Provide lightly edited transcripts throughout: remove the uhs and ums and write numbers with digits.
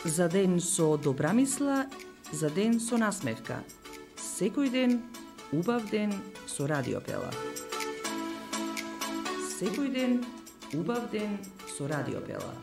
За ден со добра мисла, за ден со насмевка. Секој ден, убав ден со Радио Пела. Секој ден, убав ден со Радио Пела.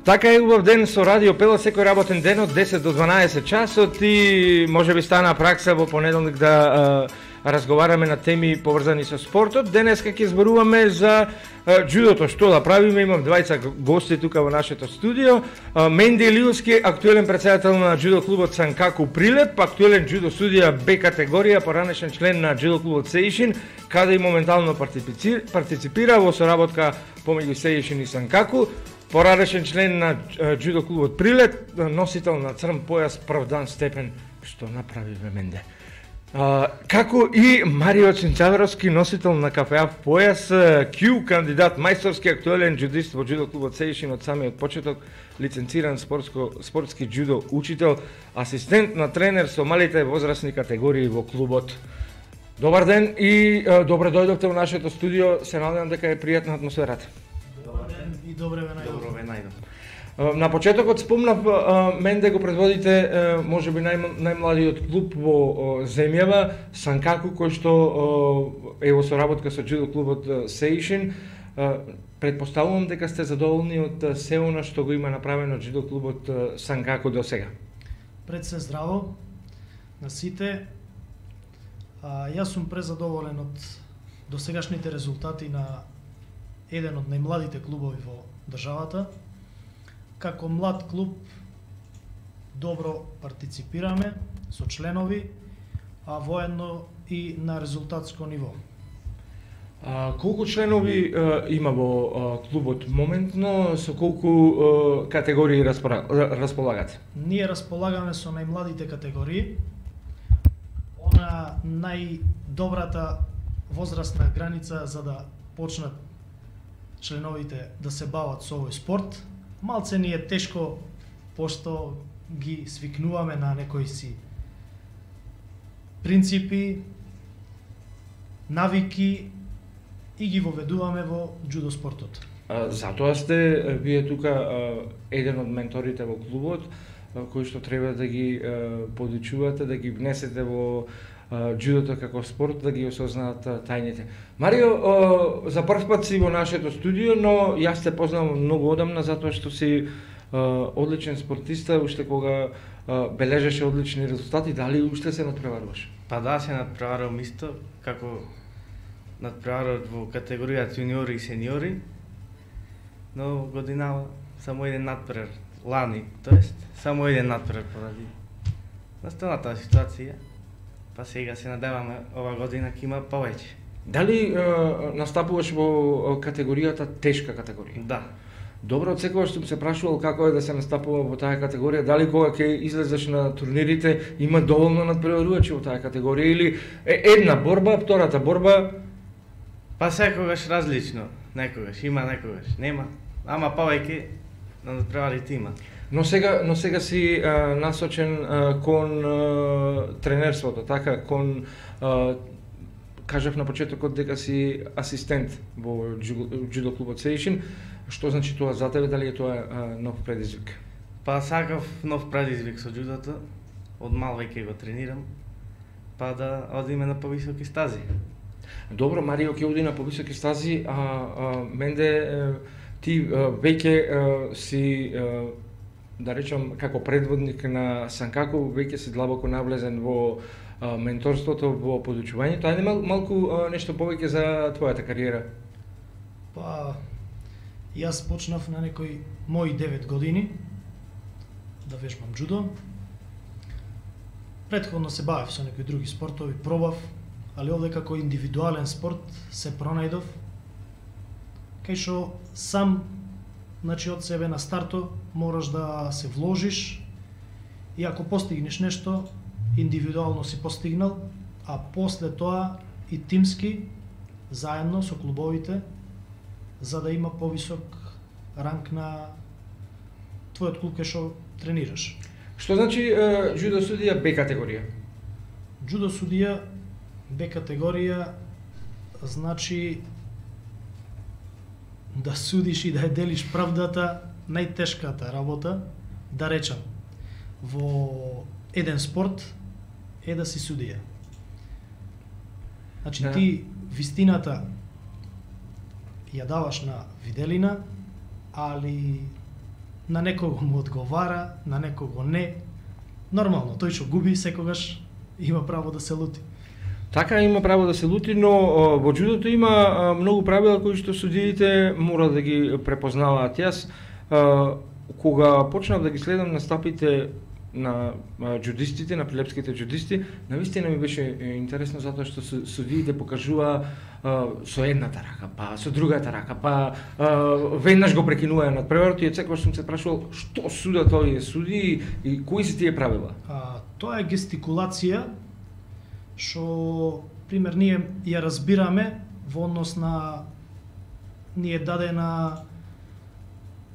Така е, убав ден со Радио Пела секој работен ден од 10 до 12 часот и може би стана пракса во понеделник да разговараме на теми поврзани со спортот. Денеска ќе зборуваме за џудото. Што да правиме? Имам двајца гости тука во нашето студио. Менди Илиевски, актуелен претседател на џудо клубот Санкаку Прилеп, актуелен џудо судија Б категорија, поранешен член на џудо клубот Сеишин, каде и моментално партиципира во соработка помеѓу Сеишин и Санкаку. Поранешен член на џудо клубот Прилеп, носител на црн појас правдан степен. Што направиве, Менде? Како и Марио Цинцаверовски, носител на КФА појас, Q кандидат, мајсторски актуелен џудист во џудо клубот Сеишин од самиот почеток, лиценциран спортски џудо учител, асистент на тренер со малите возрастни категории во клубот. Добар ден и добре дојдовте во нашето студио. Се надевам дека е пријатна атмосферата. Добар ден и добре ве најдов. На почетокот спомнав, Менде го предводите можеби најмладиот клуб во земјава, Санкаку, кој што е во соработка со џудо клубот Сеишин. Предпоставувам дека сте задоволни од се она што го има направено џудо клубот Санкаку до сега. Пред се здраво на сите. Јас сум презадоволен од досегашните резултати на еден од најмладите клубови во државата. Како млад клуб добро партиципираме со членови, а воедно и на резултатско ниво. Колку членови има во клубот моментно, со колку категории располагате? Ние располагаме со најмладите категории. Она најдобрата возрастна граница за да почнат членовите да се бават со овој спорт. Малце ни е тешко, пошто ги свикнуваме на некои си принципи, навики и ги воведуваме во џудо спортот. Затоа сте вие тука еден од менторите во клубот, кои што треба да ги подучувате, да ги внесете во џудото како спорт, да ги осознаат тајните. Марио, за прв пат си во нашето студио, но јас те познавам многу одамна затоа што си одличен спортиста, уште кога бележеше одлични резултати. Дали уште се надпреваруваш? Па да, се надпреварувам исто, како надпреварував во категоријата јуниори и сениори, но годинава само еден надпревар, лани, тоест само еден надпревар поради настаната ситуација. Па сега се надеваме ова година ќе има повеќе. Дали настапуваш во категоријата тешка категорија? Да. Добро, од секогаш сум се прашувал како е да се настапува во таа категорија, дали кога ќе излезеш на турнирите има доволно надпреварувачи во таа категорија или една борба, втората борба? Па секогаш различно, некогаш има, некогаш нема, ама повеќе на надпреварите има. Но сега си насочен кон тренерството, така, кон кажав на почетокот дека си асистент во џудо клубот Сеишин. Што значи тоа за тебе, дали е тоа нов предизвик? Па сакав нов предизвик со џудото, од мал веќе го тренирам, па да одиме на повисоки стази. Добро, Марио ќе оди на повисоки стази, Менде ти веќе си да речам како предводник на Санкаку, веќе си длабоко навлезен во менторството, во подучувањето. Ајде малку нешто повеќе за твојата кариера. Па јас почнав на некои мои 9 години да вежбам џудо. Претходно се бавев со некои други спортови, пробав, али овде како индивидуален спорт се пронајдов, кај што сам, значи од себе на старто мораш да се вложиш и ако постигнеш нешто, индивидуално си постигнал, а после тоа и тимски, заедно со клубовите, за да има повисок ранг на твојот клуб кај што тренираш. Што значи џудо судија Б категорија? Џудо судија Б категорија значи да судиш и да ја делиш правдата, најтешката работа, да речам, во еден спорт е да си судија. Значи ти вистината ја даваш на виделина, али на некого му одговара, на некого не. Нормално, тој што губи секогаш има право да се лути. Така има право да се лути, но во џудото има многу правила кои што судиите мора да ги препознаваат. Јас кога почнав да ги следам настапите на џудистите, на прилепските џудисти, навистина ми беше интересно затоа што судиите покажува со едната рака, па со другата рака, па веднаш го прекинуваја надпреварот и секогаш сум се прашувал што судат овие судии и кои се тие правила? Тоа е гестикулација што пример ние ја разбираме во однос на ни е дадена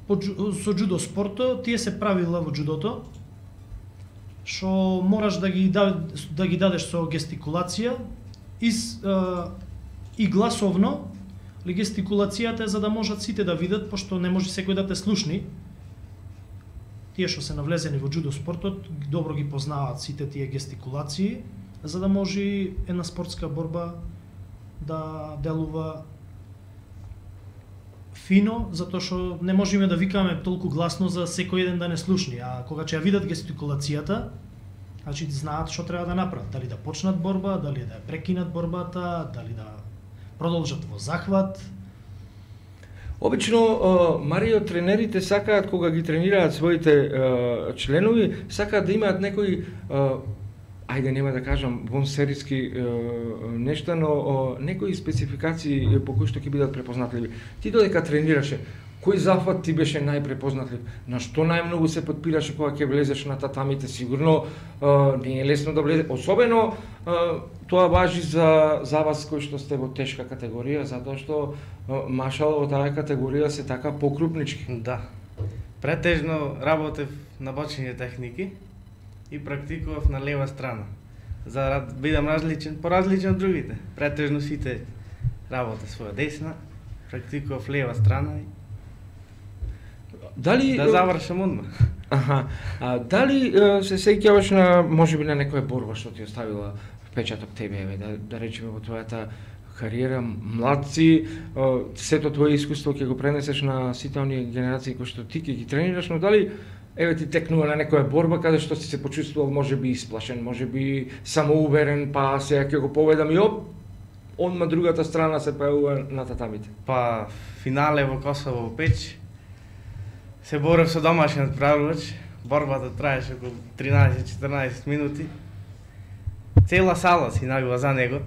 со џудо спортот, тие се правила во џудото што мораш да ги дадеш со гестикулација и гласовно. Гестикулацијата е за да можат сите да видат, пошто не може секој да те слушни. Тие што се навлезени во џудо спортот добро ги познаваат сите тие гестикулации, за да може една спортска борба да делува фино, затоа што не можеме да викаме толку гласно за секој еден да не слушни, а кога ќе ја видат гестикулацијата, значи знаат што треба да направат, дали да почнат борба, дали да ја прекинат борбата, дали да продолжат во захват. Обично, Марио, тренерите сакаат кога ги тренираат своите членови, сакаат да имаат некои ајде нема да кажам вонсериски нешта, но некои спецификации по кои што ќе бидат препознатливи. Ти додека тренираше, кој захват ти беше најпрепознатлив? На што најмногу се подпираше кога ќе влезеш на татамите? Сигурно не е лесно да влезе, особено тоа важи за вас кои што сте во тешка категорија, затоа што машал во таа категорија се така покрупнички. Да. Претежно работев на бочиње техники и практикував на лева страна, за да бидам различен, поразличен од другите. Претежно сите работа своја десна, практикував лева страна и дали да завршам одма. Дали се сеќаваш на можеби на некоја борба што ти оставила впечаток тебе, да речеме во твојата кариера, младци, сето твое искуство ќе го пренесеш на сите оние генерации кои што ти ќе ги тренираш, но дали ти текнува на некоја борба каде што си се почувствувал можеби исплашен, можеби самоуверен, па сега ќе го поведам и одма другата страна се појавува на татамите? Па финале во Косово во Печ се борев со домашен надправувач, борбата траеше околу 13-14 минути. Цела сала си навила за него,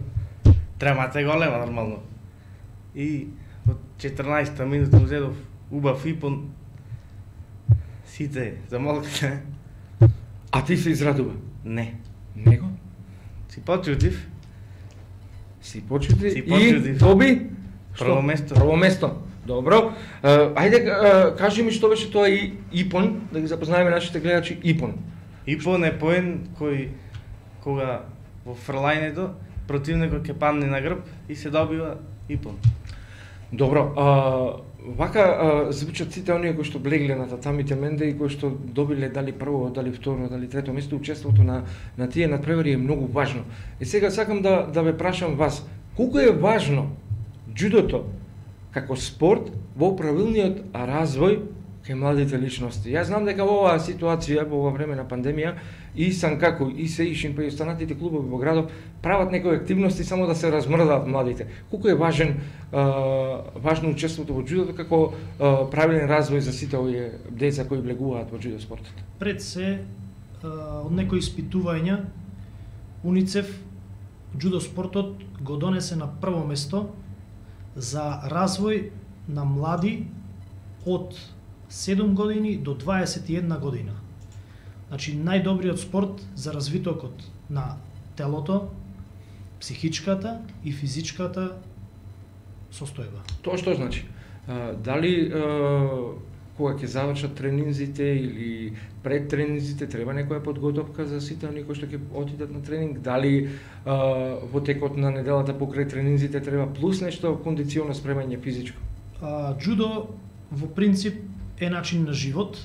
тремата е голема нормално. И во 14-та минута му зедов убав ипон, сите замолкате. А ти се израдува? Не. Него? Си почутив. Си почутив и доби? Прво место. Прво место. Добро. Ајде, кажи ми што беше тоа ипон, да ги запознаеме нашите гледачи. Ипон. Ипон е поен кој кога во фрлајнето противникот ќе падне на грб и се добива ипон. Добро. Вака звучат сите оние кои што блегле на татамите менде и кои што добиле дали прво, дали второ, дали трето место. Учеството на тие надпревари е многу важно. И сега сакам да ве прашам вас, колку е важно џудото како спорт во правилниот развој кај младите личности? Јас знам дека во оваа ситуација, во ова време на пандемија, и Санкаку, и Сеишин, па и останатите клубови во градот прават некои активности само да се размрдаат младите. Колку е важно учеството во џудото како правилен развој за сите овие деца кои влегуваат во џудо спортот? Пред се, од некои испитувања, УНИЦЕФ џудо спортот го донесе на прво место за развој на млади од 7 години до 21 година. Значи, најдобриот спорт за развитокот на телото, психичката и физичката состојба. Тоа што значи? Дали кога ќе завршат тренинзите или пред тренинзите треба некоја подготовка за сите оние кои што ќе отидат на тренинг, дали во текот на неделата покрај тренинзите треба плюс нешто кондиционо спремање физичко? Џудо во принцип е начин на живот.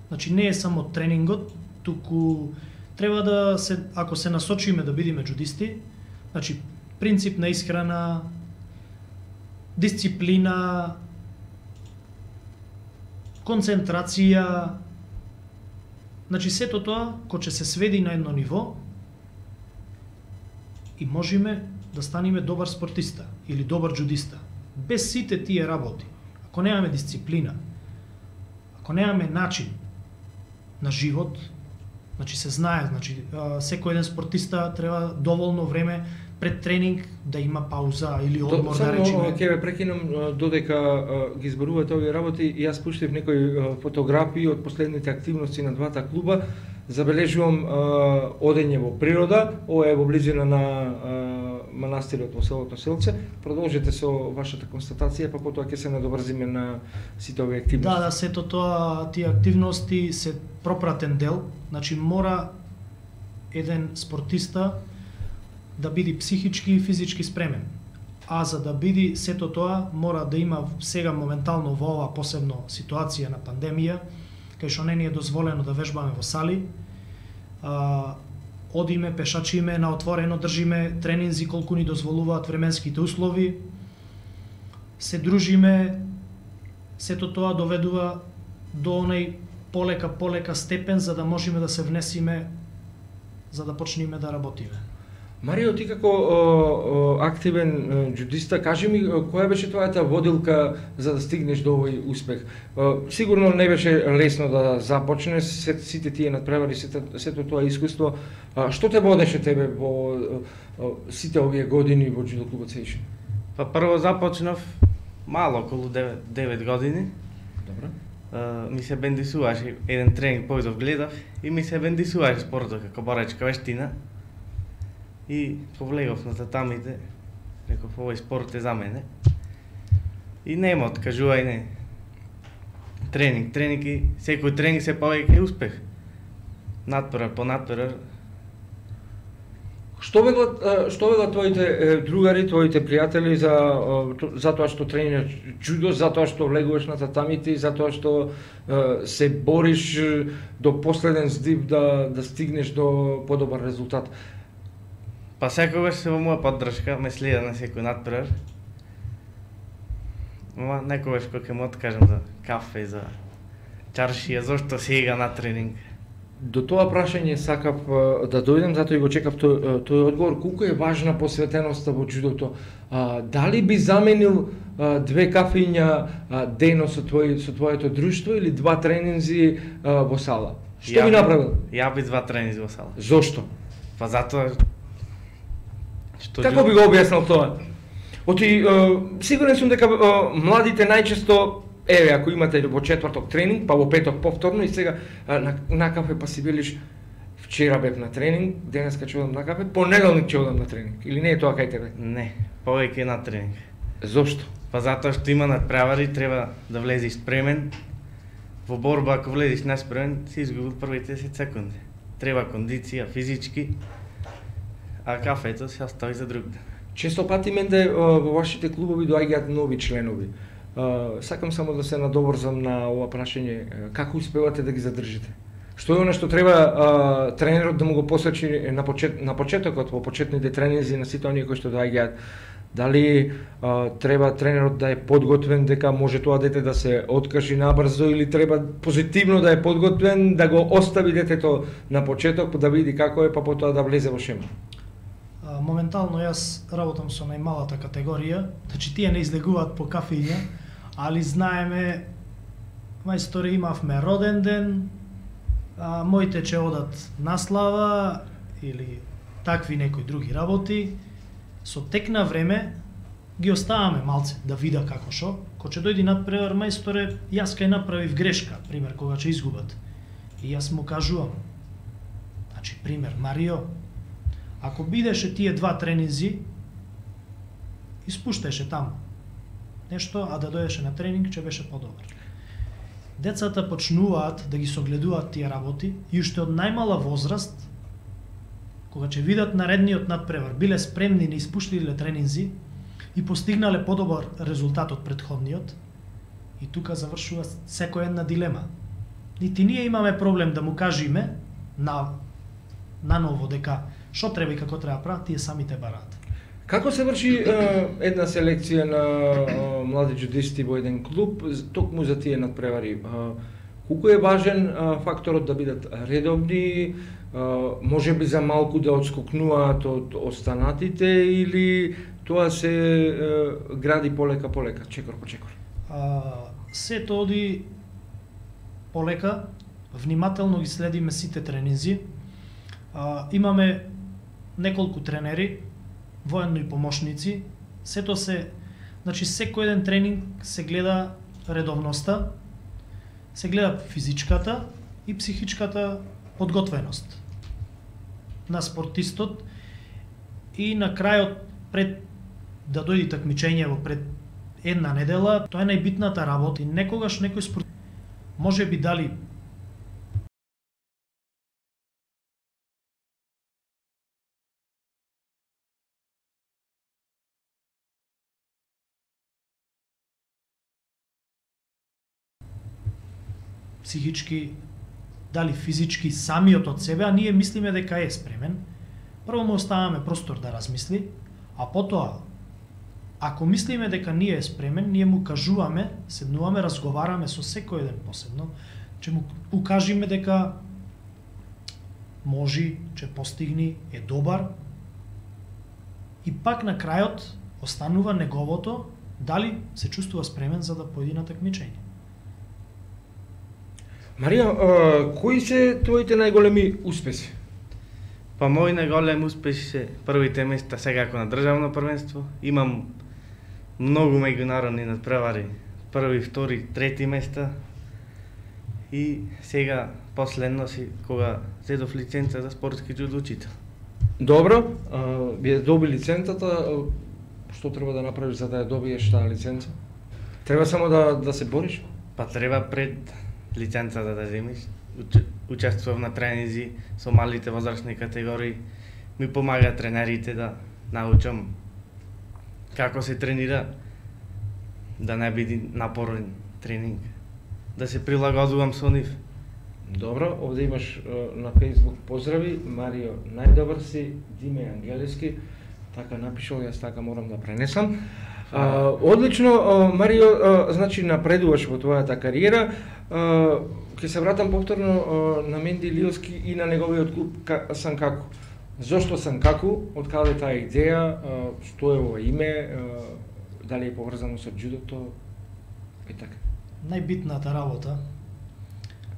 Значи не е само тренингот, туку треба да се, ако се насочиме да бидеме џудисти, значи принцип на исхрана, дисциплина, концентрација, значи сето тоа кој ќе се сведи на едно ниво и можеме да станеме добар спортиста или добар џудиста. Без сите тие работи, ако немаме дисциплина, ако немаме начин на живот, значи се знае, значи секој еден спортиста треба доволно време пред тренинг да има пауза или одмор, да речеме. Само ќе ве прекинам додека ги зборувате овие работи, и јас пуштив некои фотографии од последните активности на двата клуба. Забележувам одење во природа, ова е во близина на манастирот во селото Селце. Продолжете со вашата констатација, па потоа ќе се надоврзиме на сите овие активности. Да, сето тоа, тие активности се пропратен дел, значи мора еден спортиста да биде психички и физички спремен. А за да биде сето тоа, мора да има сега моментално во ова посебно ситуација на пандемија, кај што не ни е дозволено да вежбаме во сали, одиме, пешачиме на отворено, држиме тренинзи колку ни дозволуваат временските услови, се дружиме, сето тоа доведува до онај полека степен за да можеме да се внесиме, за да почнеме да работиме. Марио, ти како активен џудиста, кажи ми која беше твојата водилка за да стигнеш до овој успех? Сигурно не беше лесно да започнеш, сите тие надпревари, сето тоа искуство. Што те водеше тебе во сите овие години во џудо клубот Сеишн? Па прво започнав мало, околу 9 години. Добро. Ми се бендисуваше, еден тренинг појдов гледав и ми се бендисуваше спортот како борачка вештина. И повлегов на татамите, реков овој спорт е за мене. И нема откажување. Тренинг и секој тренинг се повеќе успех. Надпревар по надпревар. Што велат твоите другари, твоите пријатели за тоа што тренираш џудо, за тоа што влегуваш на татамите и за тоа што се бориш до последен здив да стигнеш до подобар резултат? Па секогаш се во моја поддршка, ме следа на секој надпревар. Ама некогаш кога ќе му откажам за кафе, за чаршија, зошто сега на тренинг? До тоа прашање сакав да дојдем, затоа и го чекав тој одговор. Колку е важна посветеноста во џудото? Дали би заменил 2 кафиња дено со твоето друштво или 2 тренинзи во сала? Што би направил? Ја би 2 тренинзи во сала. Зошто? Па затоа Како би го објаснил тоа? Сигурен сум дека младите најчесто, ако имате во четврток тренинг, па во петок повторно и сега на кафе, па си велиш вчера бев на тренинг, денеска ќе одам на кафе, понеделник ќе одам на тренинг. Или не е тоа кај тебе? Не, повеќе на тренинг. Зошто? Па затоа што има надпревари, треба да влезеш спремен. Во борба ако влезеш неспремен, си изгубил првите 10 секунди. Треба кондиција, физички. А кафето се остави за друг ден. Често пати менде во вашите клубови доаѓаат нови членови. Сакам само да се надоврзам на ова прашање. Како успевате да ги задржите? Што е она што треба тренерот да му го посочи на почетокот, во почетните тренинзи на сите оние кои што доаѓаат? Дали треба тренерот да е подготвен дека може тоа дете да се откажи набрзо, или треба позитивно да е подготвен, да го остави детето на почеток, да види како е, па потоа да влезе во шема? Моментално јас работам со најмалата категорија, значи тие не излегуваат по кафења, али знаеме, мајсторе, имавме роден ден, моите ќе одат на слава или такви некои други работи. Со тек на време ги оставаме малце да вида како шо. Кога ќе дојде надпревар, мајсторе, јас кај направив грешка, пример, кога ќе изгубат. И јас му кажувам, значи, пример, Марио, ако бидеше тие 2 тренинзи, испушташе таму нешто, а да дојдеше на тренинг, ќе беше подобар. Децата почнуваат да ги согледуваат тие работи и уште од најмала возраст, кога ќе видат наредниот надпревар, биле спремни, не испуштиле тренинзи и постигнале подобар резултат од претходниот, и тука завршува секоја една дилема. Нити ние имаме проблем да му кажеме наново дека што треба и како треба прават, тие самите бараат. Како се врши една селекција на млади џудисти во еден клуб, токму за тие надпревари? Колку е важен факторот да бидат редовни, може би за малку да отскокнуваат од останатите, или тоа се гради полека, чекор по чекор? Сето оди полека, внимателно ги следиме сите тренинзи. Имаме неколку тренери, военно и помошници. Сето се, значи секој еден тренинг се гледа редовноста, се гледа физичката и психичката подготвеност на спортистот, и на крајот, пред да дојде такмичењево, пред една недела, тоа е најбитната работа. И некогаш некој спорт може би дали психички, дали физички, самиот од себе, а ние мислиме дека е спремен. Прво му оставаме простор да размисли, а потоа, ако мислиме дека ние е спремен, ние му кажуваме, седнуваме, разговараме со секој еден посебно, че му укажиме дека може, че постигни, е добар, и пак на крајот останува неговото дали се чувствува спремен за да појде на такмичење. Марио, кои се твоите најголеми успеси? Па мои најголеми успеси се првите места секако на државно првенство. Имам многу меѓународни надпревари, први, втори, трети места. И сега последно си кога зедов лиценца за спортски џудо учител. Добро, вие доби лиценцата, што треба да направиш за да ја добиеш таа лиценца? Треба само да се бориш? Па треба пред лиценцата да земиш. Учествував на тренинзи со малите возрастни категории. Ми помагаат тренерите да научам како се тренира, да не биде напорен тренинг, да се прилагодувам со нив. Добро, овде имаш на Facebook поздрави, Марио, најдобар си, Диме Ангелески, така напишал, јас така морам да пренесам. Одлично, Марио, значи напредуваш во твојата кариера. Ќе се вратам повторно на Менди Лилски и на неговиот клуб Санкаку. Зошто Санкаку? Од каде таа идеја? Што е ова име? Дали е поврзано со џудото? И така. Најбитната работа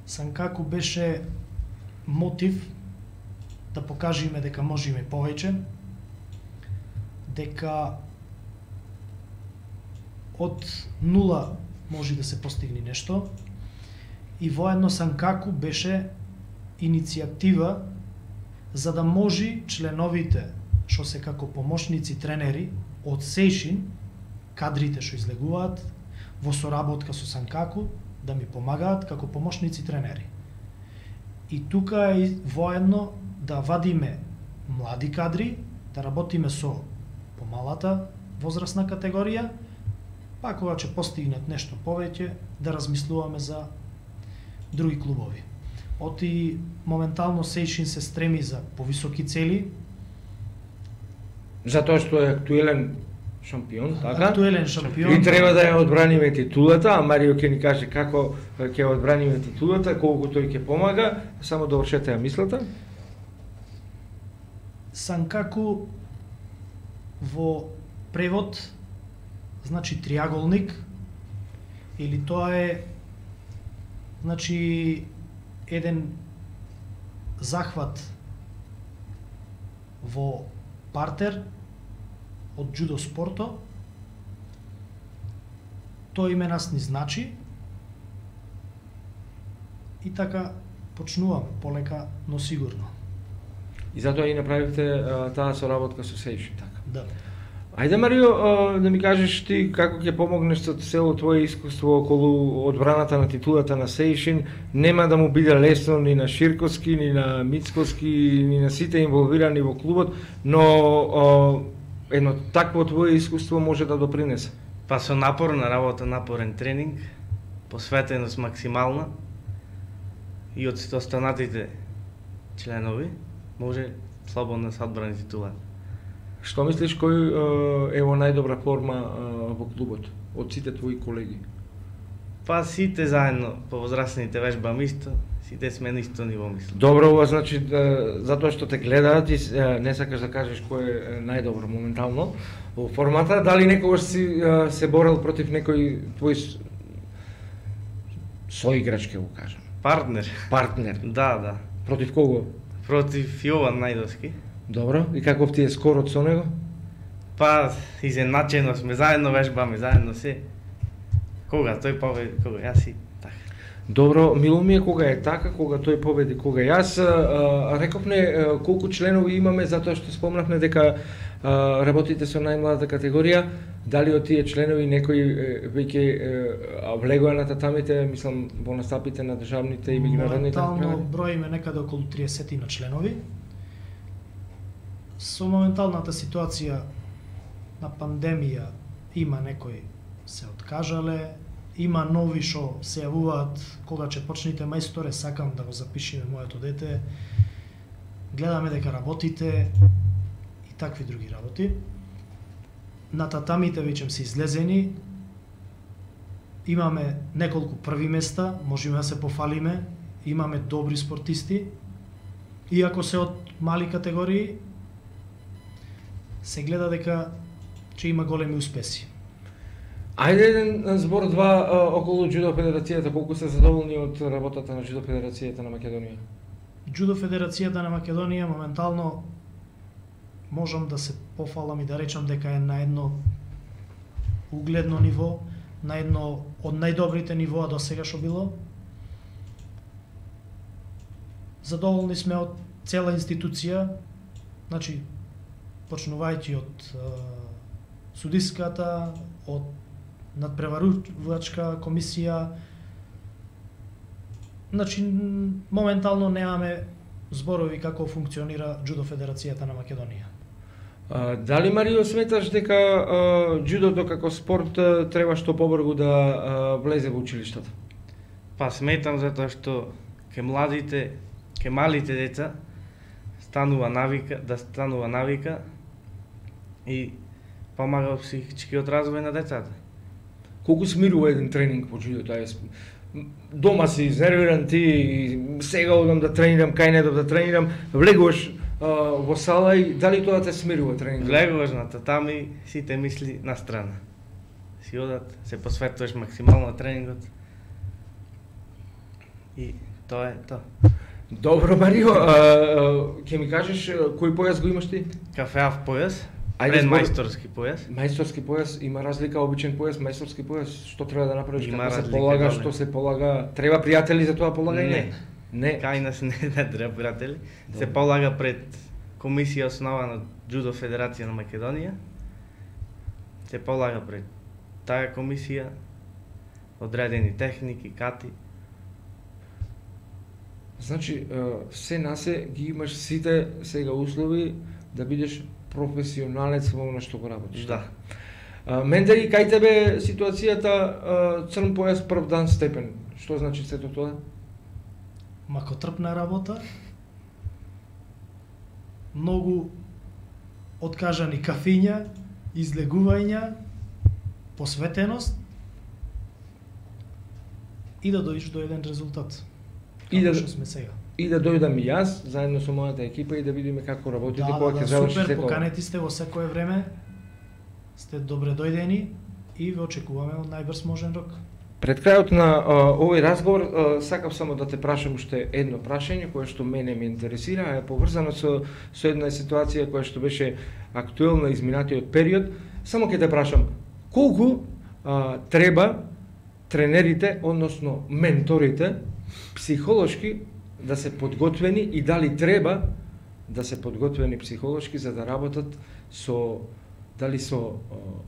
Санкаку беше мотив да покажеме дека можеме повеќе, дека од нула може да се постигне нешто, и воедно Санкаку беше иницијатива за да може членовите, што се како помошници тренери од Сејшин, кадрите што излегуваат во соработка со Санкаку, да ми помагаат како помошници тренери. И тука е воедно да вадиме млади кадри, да работиме со помалата возрастна категорија, па кога ќе постигнат нешто повеќе, да размислуваме за други клубови. Оти моментално Сејшин се стреми за повисоки цели. Затоа што е актуелен шампион, така? Актуелен шампион. И треба да ја одбраниме титулата, а Марио ќе ни каже како ќе одбраниме титулата, колку тој ќе помага. Само довршете ја мислата. Санкаку во превод значи триаголник, или тоа е значи еден захват во партер од џудо спорто. Тоа име нас ни значи, и така почнуваме полека, но сигурно. И затоа и направивте таа соработка со Сејшин, така? Да. Ајде Марио, да ми кажеш ти како ќе помогнеш со цело твое искуство околу одбраната на титулата на Сеишин. Нема да му биде лесно ни на Ширковски, ни на Мицковски, ни на сите инволвирани во клубот, но едно такво твое искуство може да допринесе. Па со напорна работа, напорен тренинг, посветеност максимална и од останатите членови може слободно се одбрани титула. Што мислиш кој е во најдобра форма во клубот од сите твои колеги? Па сите заедно, повозрастните вежбам исто, сите сме на исто ниво, мислам. Добро, ова значи затоа што те гледаат и не сакаш да кажеш кој е најдобро моментално во формата, дали некогаш си се борел против некој твој соиграч, ќе го кажам? Партнер. Партнер. Да. Против кого? Против Јован Најдовски. Добро, и каков ти е скорот со него? Па, изеначено сме, заедно вежбаме, заедно се. Кога тој победи, кога јас и така. Добро, мило ми е кога е така, кога тој победи, кога јас. Рековме колку членови имаме, затоа што спомнавме дека работите со најмладата категорија. Дали од тие членови некои веќе влегоа на татамите, мислам, во настапите на државните и меѓународните натпревари? Моментално броиме некаде околу 30 на членови. Со моменталната ситуација на пандемија има некои се откажале, има нови што се јавуваат кога ќе почнете мајсторе, сакам да го запишиме моето дете, гледаме дека работите и такви други работи. На татамите веќе се излезени, имаме неколку први места, можеме да се пофалиме, имаме добри спортисти, иако се од мали категории, се гледа дека ќе има големи успеси. Ајде еден збор два околу Џудо Федерацијата, колку се задоволни од работата на Џудо Федерацијата на Македонија? Џудо Федерацијата на Македонија моментално можам да се пофалам и да речам дека е на едно угледно ниво, на едно од најдобрите нивоа до сега што било. Задоволни сме од цела институција, значи почнувајќи од судиската, од надпреварувачка комисија. Значи моментално немаме зборови како функционира Џудо Федерацијата на Македонија. Дали Марио сметаш дека џудото како спорт треба што побрзо да влезе во училиштата? Па сметам затоа што ке младите, ке малите деца станува навика и помага во психичкиот развој на децата. Колку смирува еден тренинг по џудото? Дома си изнервиран ти и сега одам да тренирам, кај недов да тренирам, влегуваш во сала и дали тоа те смирува тренингот? Влегуваш на татами, сите мисли на страна. Си одат, се посветуваш максимално на тренингот. И тоа е тоа. Добро, Марио, ќе ми кажеш кој појас го имаш ти? Кафеав појас, Ајде, мајсторски појас. Мајсторски појас, има разлика обичен појас, мајсторски појас, што треба да направиш, Има како се разлика, полага, да, што се полага, треба пријатели за тоа полагање? Не. Кај нас не треба пријатели. Се полага пред комисија основана Џудо Федерација на Македонија. Се полага пред таа комисија одредени техники, кати. Значи, се насе ги имаш сите сега услови да бидеш професионалец во она што го работиш. Да. Менде и кај тебе ситуацијата црн појас прв дан степен. Што значи сето тоа? Макотрпна работа, многу откажани кафиња, излегувања, посветеност и да дојдеш до еден резултат. И да што сме сега. И да дојдам и јас заедно со мојата екипа и да видиме како работите кога ќе заврши супер, сето. поканети сте во секое време. Сте добре дојдени и ве очекуваме од најбрз можен рок. Пред крајот на овој разговор сакав само да те прашам уште едно прашање кое што мене ме интересира, е поврзано со една ситуација која што беше актуелна изминатиот период. Само ќе те прашам колку треба тренерите, односно менторите, психолошки да се подготвени и дали треба да се подготвени психолошки за да работат со дали со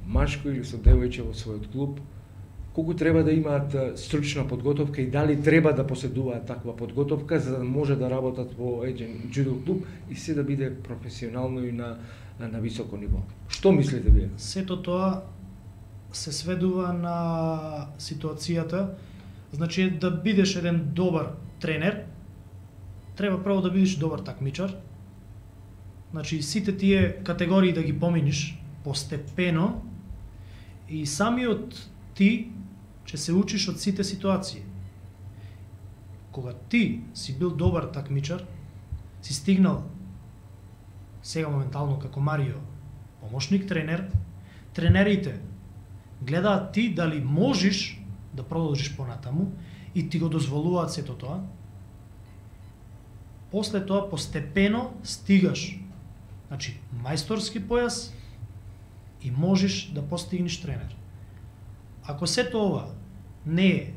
машко или со девојче во својот клуб, колку треба да имаат стручна подготовка и дали треба да поседуваат таква подготовка за да може да работат во еден џудо клуб и се да биде професионално и на високо ниво. Што мислите вие? Сето тоа се сведува на ситуацијата. Значи, да бидеш еден добар тренер, треба прво да бидеш добар такмичар. Значи, сите тие категории да ги поминиш постепено и самиот ти ќе се учиш од сите ситуации. Кога ти си бил добар такмичар, си стигнал сега моментално како Марио, помошник тренер, тренерите гледаат ти дали можеш да продолжиш понатаму и ти го дозволуваат сето тоа. После тоа постепено стигаш, значи мајсторски појас и можеш да постигнеш тренер. Ако сето ова не е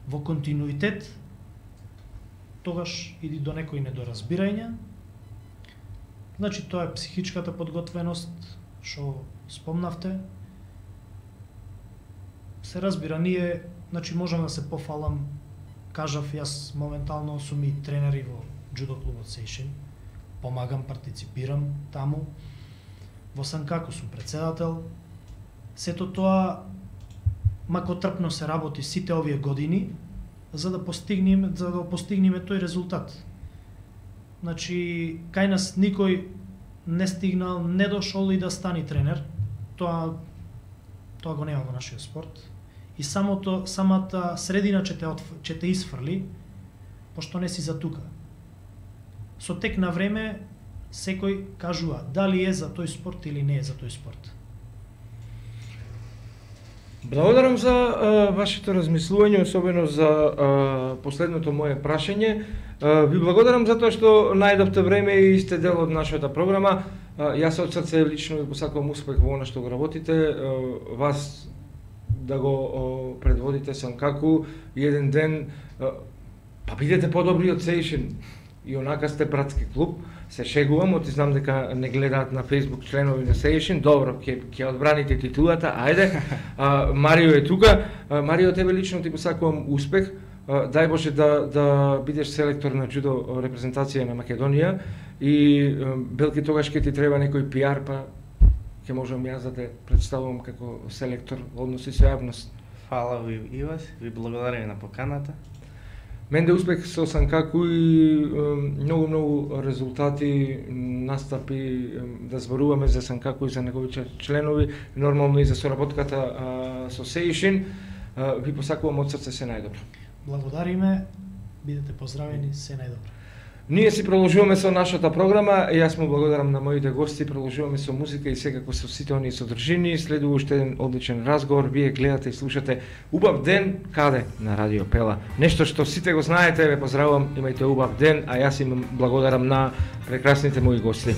во континуитет, тогаш иди до некои недоразбирања. Значи тоа е психичката подготвеност, што спомнавте. Се разбира, ние, значи можам да се пофалам, кажав, јас моментално сум и тренери во џудо клубот Сейшин, помагам, партиципирам таму, во Санкаку сум председател. Сето тоа макотрпно се работи сите овие години за да постигнеме тој резултат. Значи, кај нас никој не стигнал, не дошол и да стани тренер. Тоа го нема во нашиот спорт. И самата средина ќе те исфрли, пошто не си за тука. Со тек на време, секој кажува дали е за тој спорт или не е за тој спорт. Благодарам за вашето размислување, особено за последното мое прашање. Ви благодарам за тоа што најдовте време и сте дел од нашата програма. Јас од срце лично ви посакувам успех во она што го работите. Вас да го предводите Санкаку и еден ден па бидете подобри од Сейшин. И онака сте братски клуб. Се шегувам, оти знам дека не гледаат на Facebook членови на Сейшин. Добро, ќе одбраните титулата, ајде. Марио е тука. Марио, тебе лично ти посакувам успех. Дај Боже да бидеш селектор на џудо репрезентација на Македонија и белки тогаш ќе ти треба некој пиар, па ќе можам јас да те представувам како селектор во односи со јавност. Фала ви и вас, ви благодарам на поканата. Менде успех со Санкаку и многу резултати, настапи, да зборуваме за Санкаку и за неговите членови, нормално и за соработката со Сейшин. Ви посакувам од срце се најдобро. Благодариме, бидете поздравени, се најдобро. Ние си продолжуваме со нашата програма, јас му благодарам на моите гости, продолжуваме со музика и секако со сите оние содржини, следува уште еден одличен разговор, вие гледате и слушате Убав ден, каде? На Радио Пела. Нешто што сите го знаете, ве поздравувам, имајте убав ден, а јас им благодарам на прекрасните мои гости.